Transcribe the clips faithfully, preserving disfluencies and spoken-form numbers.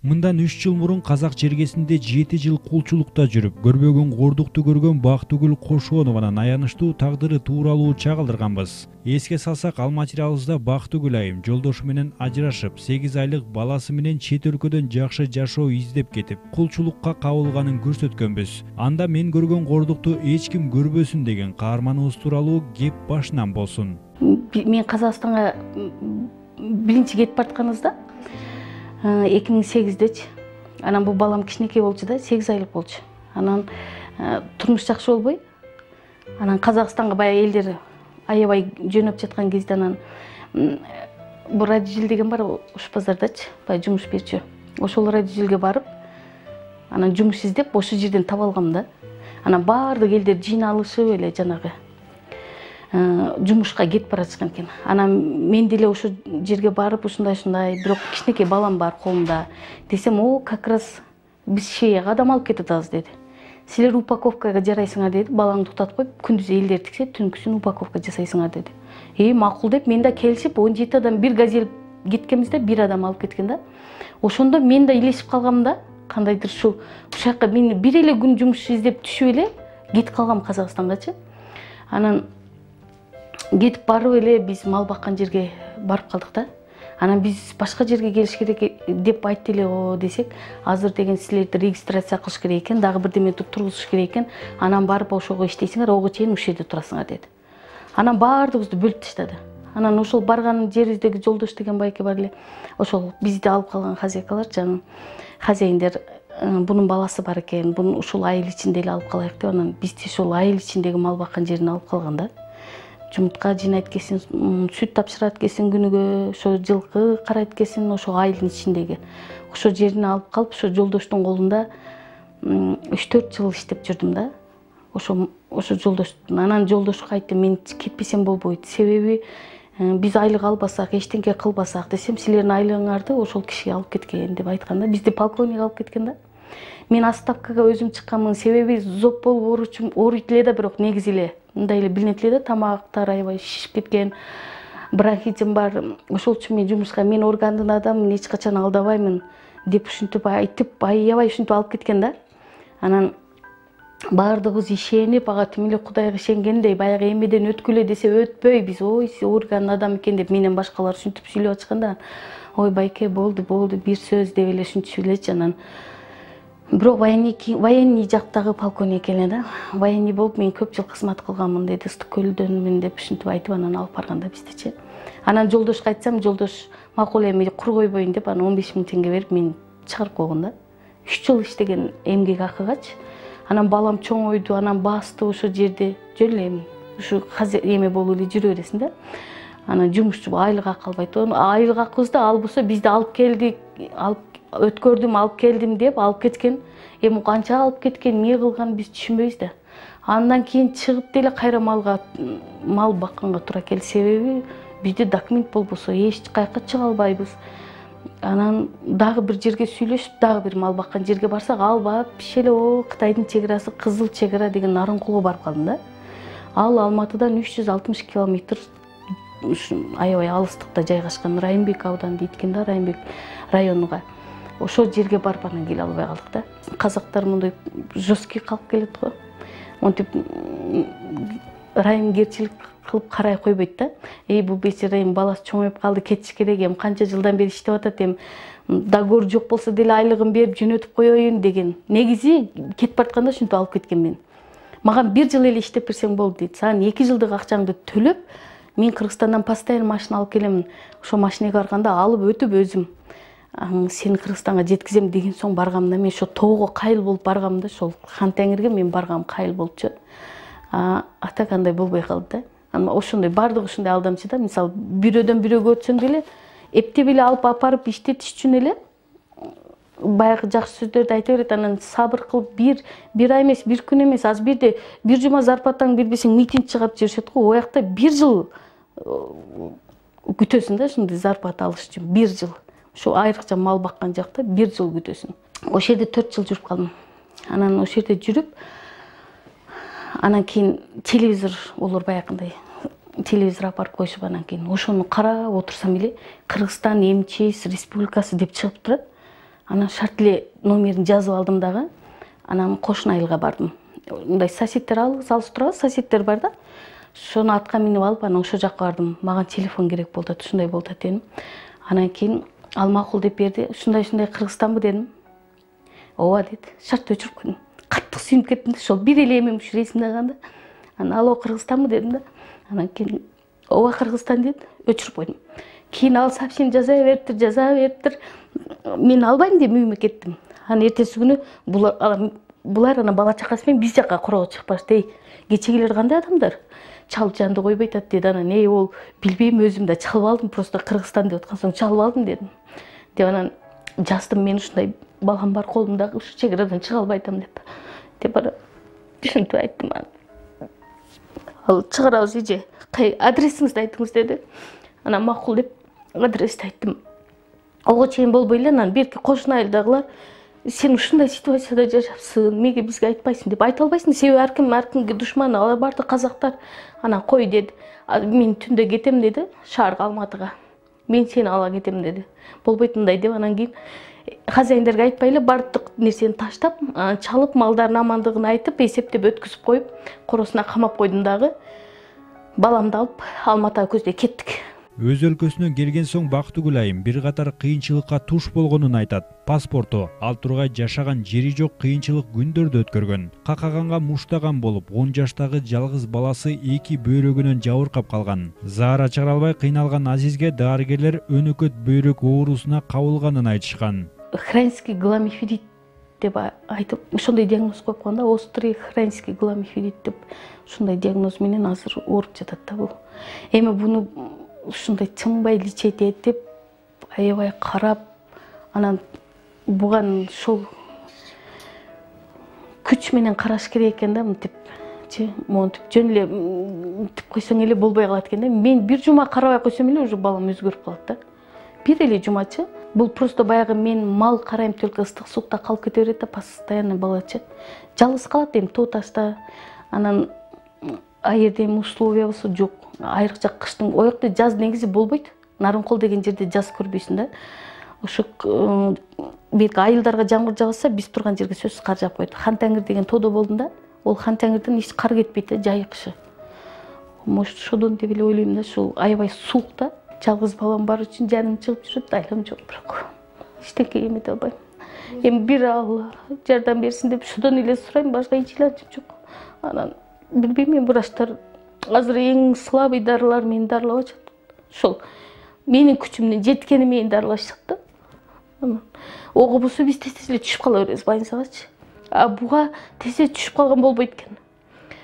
Мындан үч жыл мурун Казак жергесинде жети жыл кулчулукта жүрүп, көрбөгөн кордукту көргөн Бактыгүл Кошонованын аянычтуу тагдыры тууралуу чагылдырганбыз. Эске салсак, ал материалыбызда Бактыгүл айым жолдошу менен ажырашып, сегиз айлык баласы менен чет өлкөдөн жакшы жашоо издеп кетип, кулчулукка кабылганын көрсөткөнбүз. Анда мен көргөн кордукту эч ким көрбөсүн деген каарманыбыз тууралуу кеп башынан болсун. Мен Казакстанга биринчи кетип баратканыбызда эки миң сегиздечи. Анан бул балам кичинекей болчу да, сегиз айлык болчу. Анан турмуш жакшы болбой, анан Казакстанга баягы элдер аябай жөнөп жаткан кезде анан бул радиожил деген бар Ош базардачы, баягы жумуш берчү. Ошол радиожилге барып, анан жумуш издеп, ошол жерден таап алгам да. Анан баардык элдер жыйналышып эле жанагы жумушка кетип бара жаткан экен. Анан мен деле ошо жерге барып, ушундай-ушундай, бирок кичинекей балам бар колумда. Десем, о, как раз биз Шеяга адам алып кетатабыз деди. Силер упаковкага жарайсыңар деди, балаңды уктатып коюп, күндүз элдер тиксе, түнкүсүн упаковка жасайсыңар деди. Э, макул деп, мен да келишип, он жети адам бир газель кеткенбизде, бир адам алып кеткен да. Ошондо мен да илешип калгам да, кандайдыр ушул ушакка мен бир эле күн жумуш издеп түшүп эле кетип калгам Казакстангачы. Анан кетип барып эле биз мал баккан жерге барып калдык да. Анан биз башка жерге келиш керек деп айтты эле о десек, азыр деген силерди регистрация кылыш керек экен, дагы бирдеме тургузуш керек экен. Анан барып ошого иштейсиңер, ого чейин ушул жерде турасыңар деди. Анан баардыгыбызды бөлүп таштады. Анан ошол барган жерибиздеги жолдош деген байке бар эле. Ошол бизди алып калган хозяйкалар, жана хозяиндер, бунун баласы бар экен, буну ушул айыл ичинде эле алып калайык деп, анан бизди ошол айыл ичиндеги мал баккан жерине алып калган да. Жумуртка жыйнайт экенсиң, сүт тапшырат экенсиң күнүгө, ошо жылкы карайт экенсиң, ошо айылдын ичиндеги. Ошо жерине алып калып, ошо жолдоштун колунда үч төрт жыл иштеп жүрдүм да. Ошо ошо жолдоштун. Анан жолдошко айттым, мен кетпесем болбойт. Себеби биз айлык албасак, эчтеке кылбасак десем, силердин айлыгыңарды ошол кишиге алып кеткен деп айтканда, бизди полковник алып кеткен да. Мен отставкага өзүм чыкканмын, себеби зоп болуп ооручум, ооруйт эле да, бирок негизи эле мындай эле билинет эле да, тамактар аябай шишип кеткен, бронхитим бар. Ошол үчүн мен жумушка, мен органдын адаммын, эч качан алдабаймын деп ушинтип айтып, аябай ушинтип алып кеткен да. Анан баардыгыбыз ишенип, ага тим эле Кудайга ишенгендей, баягы эмеден өткүлө десе өтпөй, биз ой, органдын адамы экен деп менен башкалар ушинтип сүйлөп атышканда, ой байке, болду, болду, бир сөз деп эле ушинтип элечи. Анан бирок военный военный жактагы полковник эле да. Военный болуп мен көп жыл кызмат кылганмын деди, Ыстык көлдөнмүн деп ушинтип айтып, анан алып барганда биздичи. Анан жолдошко айтсам, жолдош макул эми кур койбойн деп, анан он беш миң теңге берип мен чыгарып койгон да. үч жыл иштеген эмгек акыгачы. Анан балам чоңойду, анан басты ошо жерде. Жөн эле ушу эме болуп эле жүрө бересиң да. Анан жумушчу айлык акы албайт. Айлык акыбызды албаса бизди алып келдик, алып өткөрдүм, алып келдим деп алып кеткен. Эми канча алып кеткен, эмне кылган биз түшүнбөйбүз да. Андан кийин чыгып деле кайра малга мал бакканга туура келди. Себеби бизде документ болбосо эч кайка чыга албайбыз. Анан дагы бир жерге сүйлөшүп, дагы бир мал баккан жерге барсак, албап, бишеле о Кытайдын чек арасы, Кызыл чек ара деген Нарынкулга барып калдым да. Ал Алматыдан үч жүз алтымыш километр аябай алыстыкта жайгашкан, Райымбек ауданы дейт экен да, Райымбек районуга. Ошол жерге барып анан келе албай калдык да. Казактар мындай жесткий калып келет го. Монтип райымгерчилик кылып карай койбойт да. Эй, бул бечара эми баласы чоңоюп калды, кетиш керек, эми канча жылдан бери иштеп атат, эми договор жок болсо деле айлыгын берип жөнөтүп коеюн деген. Негизи кетип баратканда ушинтип алып кеткен мен. Мага бир жыл эле иштеп берсең болду дейт. Сага эки жылдык акчаңды төлөп, мен Кыргызстандан постоянно машина алып келемин. Ошо машинеге барганда алып өтүп өзүм сени Кыргызстанга жеткизем деген соң баргам да. Мен ошо тоого кайыл болуп баргам да, ошол Хан Теңирге мен баргам кайыл болчу. А атак андай болбой калды да. Анан ошондой бардыгы ушундай алдамчы да. Мисалы, бирөөдөн бирөөгө өтсөң деле эптеп эле алып апарып иштетиш үчүн эле баягы жакшы сөздөрдү айта берет. Анан сабыр кылып бир бир ай эмес, бир күн эмес, аз бирде бир жума зарплатаңды бербесең митинг чыгап жиберишет го. Оякта бир жыл күтөсүң да ушундай зарплата алыш үчүн, бир жыл. Ошо айрыкча мал баккан жакта бир жыл күтөсүң. Ошол жерде төрт жыл жүрүп калдым. Анан ошол жерде жүрүп, анан кийин телевизор болор баягындай. Телевизор апарып коюшуп, анан кийин ошону карап отурсам эле Кыргызстан МЧС республикасы деп чыгып турат. Анан шарт эле номерин жазып алдым дагы. Анан кошуна айылга бардым. Мындай соседтер алыс турабыз, соседтер бар да. Шону атка минип алып, анан ошол жакка бардым. Мага телефон керек болуп атат, ушундай болуп атат дедим. Анан кийин ал макул деп берди. Ушундай-ушундай Кыргызстанбы дедим. Ооба деди. Шартты өчүрүп койдум. Каттык сүйүнүп кеттим да, ошол бир эле эмем ушу ресимде калганда. Анан алоо Кыргызстанбы дедим да. Анан кийин ооба Кыргызстан деди, өчүрүп койдум. Кийин ал сообщение жаза бериптир, жаза бериптир. Мен албайм деп үйүмө кеттим. Анан эртеси күнү булар булар анан бала чакасы менен биз жакка корого чыгып барышты. Эй, кечегилер кандай адамдар? Чалып жанды койбой атат деди. Анан эй, ол билбейм, өзүм да чалып алдым, просто Кыргызстан деп аткан соң чалып алдым дедим. Деп анан жаздым, мен ушундай балам бар колумда, ушу чек арадан чыга албай атам деп. Деп анан ушинтип айттым. Ал чыгарабыз эже, кай адресиңизди айтыңыз деди. Анан макул деп адрести айттым. Ого чейин болбой эле анан берки кошуна айылдагылар сен ушундай ситуацияда жашапсың, эмнеге бизге айтпайсың деп. Айта албайсың, себеби ар ким ар кимге душман, алар баардык казактар. Анан кой деди. Мен түндө кетем деди, шаарга Алматыга. Мен сени ала кетем деди. Болбойт мындай деп анан кийин хозяиндерге айтпай эле баардык нерсени таштап, чалып, малдардын амандыгын айтып, эсептеп өткүзүп коюп, коросуна камап койдум дагы. Баламды алып Алматыга көздөй кеттик. Өз өлкөсүнөн келген соң Бактыгүл айым бир катар кыйынчылыкка туш болгонун айтат. Паспорту, ал тургай жашаган жери жок кыйынчылык күндөрдү өткөргөн. Какаганга муштаган болуп, он жаштагы жалгыз баласы эки бөйрөгүнөн жабыркап калган. Заара чыгара албай кыйналган Азизге дарыгерлер өнөкөт бөйрөк оорусуна кабылганын айтышкан. Хронический гломиферит деп айтып, ошондой диагноз коюп койгон да, острый хронический гломиферит деп. Ушундай диагноз менен азыр ооруп жатат да бул. Эми буну ушундай чынбай лечить этип, аябай карап, анан буган ошол күч менен караш керек экен да, мынтип, монтип жөн эле мынтип койсоң эле болбой калат экен да. Мен бир жума карабай койсом эле уже балам өзгөрүп калат да. Бир эле жумачы. Бул просто баягы мен мал карайм, только ыстык сукта калып кете берет да, постоянно балачы. Жалгыз калат эми тоо ташта. Анан аерде эми условиябызы жок. Айрыкча кыштын, оякта жаз негизи болбойт. Нарынкол деген жерде жаз көрбөйсүң да. Ошо бирки айылдарга жамгыр жагса, биз турган жерге сөзсүз кар жаап коет. Хан Таңир деген тоодо болдум да. Ол Хан Таңирден эч кар кетпейт да, жай кышы. Может, ошодон деп эле ойлойм да, ушул аябай суук да. Жалгыз балам бар үчүн жаным чыгып жүрөт, айлам жок бирок. Эчтеке эмете албайм. Эми бир Алла жардам берсин деп ошодон эле сурайм, башка эч илажым жок. Анан билбейм, мен врачтар азыр эң слабый дарылар мени дарылап атышат. Ошол менин күчүмдүн жеткени мени дарылашат да. Анан ого болсо биз тез-тез эле түшүп кала беребиз больницагачы. А буга тез-тез түшүп калган болбойт экен.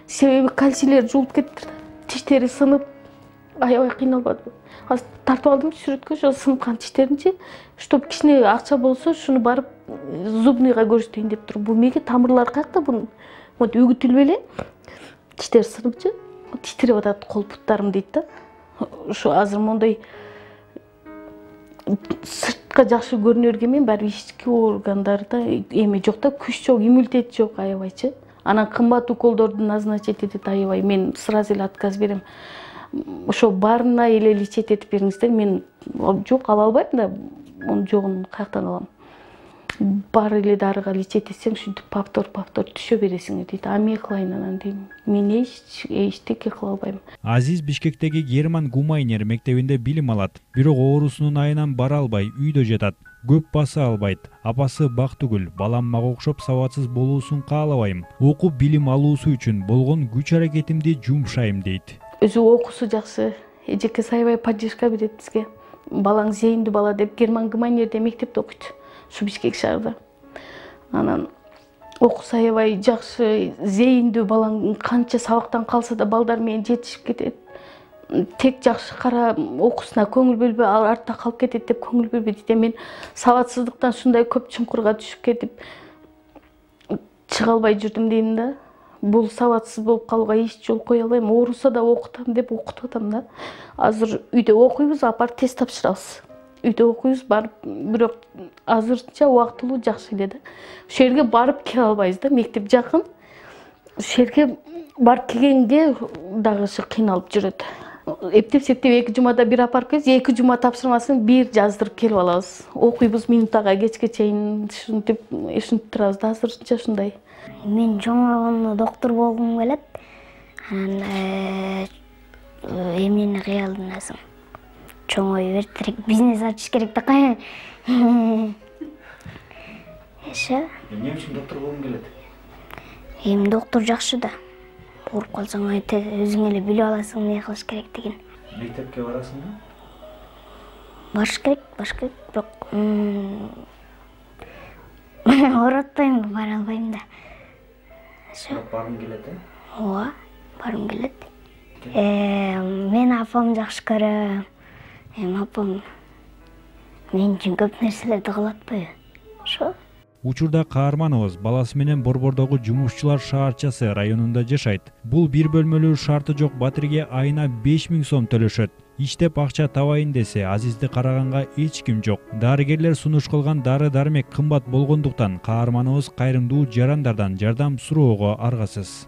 Себеби кальцийлер жуулуп кетти. Тиштери сынып, аябай кыйналбады. Азыр тартып алдым сүрөткө, ошо сыныккан тиштеринчи, чтоб кичине акча болсо, шуну барып зубныйга көрсөтөйүн деп туруп. Бул меге тамырлар каякта бунун? Вот үгүтүлүп эле тиштер сыныпчы, титиреп атат кол буттарым дейт да. Ошо азыр мондой сыртка жакшы көрүнө берген барбы ички органдарда эме жок да, күч жок, иммунитет жок аябайчы. Анан кымбат уколдорду назначить этет аябай. Мен сразу эле отказ берем. Ошо баарына эле лечить этип бериңиздер. Мен жок ала албайм да, онун жогун каяктан алам. Баары эле дарыга лечить этсең, ушинтип повтор повтор түшө бересиң дейт. А мен кылайын анан дейм. Мен эч эчтеке кыла албайм. Азиз Бишкектеги Герман Гумайнер мектебинде билим алат. Бирок оорусунун айынан бара албай, үйдө жатат. Көп баса албайт. Апасы Бактыгүл, балам мага окшоп сабатсыз болуусун каалабайм. Окуп билим алуусу үчүн болгон күч аракетимди жумшайм дейт. Өзү окуусу жакшы. Эжеке аябай поддержка берет бизге. Балаң зейиндүү бала деп Герман Гумайнерде мектепте окуйт. Ушу Бишкек шаарда. Анан окуусу аябай жакшы, зейиндүү балаң канча сабактан калса да балдар менен жетишип кетет. Тек жакшы кара, окуусуна көңүл бөлбөй, артта калып кетет деп көңүл бөлбөйт. Мен сабатсыздыктан ушундай көп чуңкурга түшүп кетип чыга албай жүрдүм дейм да. Бул сабатсыз болуп калууга эч жол кое албайм. Ооруса да окутам деп окутуп атам да. Азыр үйдө окуйбуз, апарып тест тапшырабыз. Үйдө окуйбуз, барып, бирок азырча убактылуу жакшы эле да. Ошол жерге барып келе албайбыз да, мектеп жакын. Ошол жерге барып келгенге дагы кыйналып жүрөт. эптеп септеп эки жумада бир алып келебиз, эки жума тапшырмасын бир жаздырып келип алабыз. Окуйбуз минутага кечке чейин ушинтип ушинтип турабыз да, азырынча ушундай. Мен чоңойгондо доктор болгум келет. Анан эмнени кыялдынасың? Чоңой бертерек бизнес ачыш керек да кая. Эше. Эмне үчүн доктор болгуң келет? Эми доктор жакшы да. Ооруп калсаң өзүң эле билип аласың эмне кылыш керектигин. Мектепке барасыңбы? Барыш керек, барыш керек, бирок ооротпойм, бара албайм да. Баргың келет, э? Ооба, баргым келет. Мен апам жакшы көрөм. Эми апам мен үчүн көп нерселерди кылып атпайбы? Ошо. Учурда каарманыбыз баласы менен Борбордогу Жумушчулар шаарчасы районунда жашайт. Бул бир бөлмөлүү шарты жок батирге айына беш миң сом төлөшөт. Иштеп акча табайын десе, Азизди караганга эч ким жок. Дарыгерлер сунуш кылган дары-дармек кымбат болгондуктан каарманыбыз кайрымдуу жарандардан жардам суроого аргасыз.